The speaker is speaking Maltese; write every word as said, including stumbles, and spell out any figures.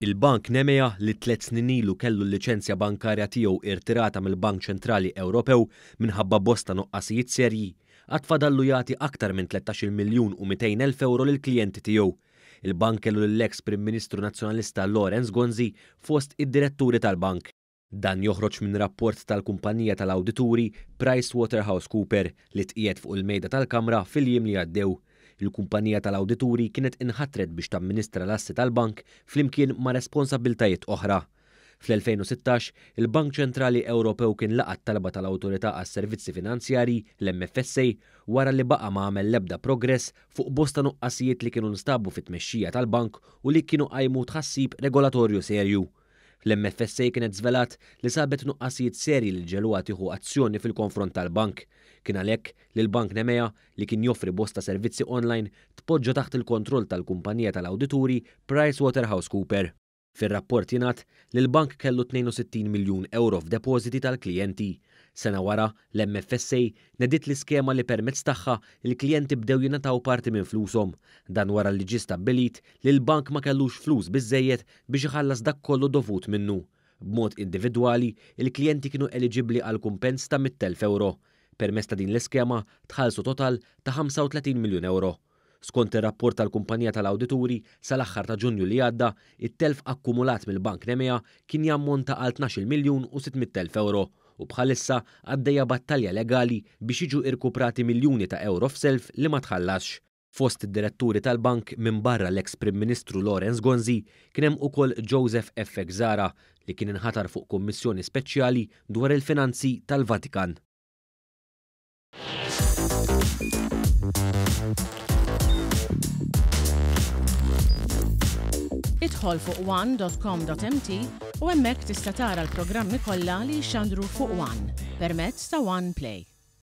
Il-Bank Nemea li tliet snin ilu kellu l-liċenzja bankarja tiegħu irtirata mill-Bank Ċentrali Ewropew minħabba bosta nuqqasijiet serji, għad fadallu jagħti aktar minn tlettax-il miljun u mitejn elf ewro lill-klijenti tiegħu. Il-bank kellu lill-eks Prim Ministru Nazzjonalista Lawrence Gonzi fost id-diretturi tal-bank. Dan joħroġ minn rapport tal-kumpanija tal-awdituri PricewaterhouseCooper li tqiegħed fuq il-mejda tal-Kamra fil-jiem li għaddew. Il-kumpanija tal-awdituri kienet inħatret biex tamministra l-assi tal-bank flimkien ma' responsabbiltajiet oħra. Fl-elfejn u sittax, il-Bank Ċentrali Ewropew kien laqa' t-talba tal-Awtorità għas-Servizzi Finanzjarji, l-M F S A, wara li baqa' ma għamel l-ebda progress fuq bosta nuqqasijiet li kienu nstabu fit-tmexxija tal-bank u li kienu qajmu tħassib regolatorju serju. L-M F S A kienet żvelat li sabet nuqqasijiet serji li ġeluha tieħu azzjoni fil-konfront tal-bank. Kien għalhekk li l-Bank Nemea, li kien joffri bosta servizzi online, tpoġġa taħt il-kontroll tal-kumpanija tal-awdituri PricewaterhouseCooper. Fir-rapport jingħad li l-bank kellu tnejn u sittin miljun euro f'depożiti tal-klijenti. Sena wara, l-M F S A nediet l-iskema li permezz tagħha il-klijenti bdew jingħataw parti minn flushom. Dan wara li ġie stabbilit li l-bank ma kellux flus biżżejjed biex iħallas dak kollu dovut minnu. B'mod individwali, il-klijenti kienu eliġibbli għal kumpens ta' mitt elf euro. Permezz ta' din l-iskema tħallsu total ta' ħamsa u tletin miljun euro. Skont ir-rapport tal-kumpanija tal-awdituri, sal-aħħar ta' Ġunju li għadda, it-telf akkumulat mill-Bank Nemea kien jammonta għal tnax-il miljun u sitt mitt elf euro u bħalissa għaddejja battalja legali biex jiġu irkuprati miljuni ta' euro f'self li ma tħallasx. Fost id-diretturi tal-bank minn barra l-eks Prim Ministru Lawrence Gonzi kien hemm ukoll Joseph F. Zahra li kien inħatar fuq kummissjoni speċjali dwar il-finanzi tal-Vatikan. Idħol fuq one dot com dot M T u hemmhekk tista' tara l-programmi kollha li jxandru fuq One permezz ta' One Play.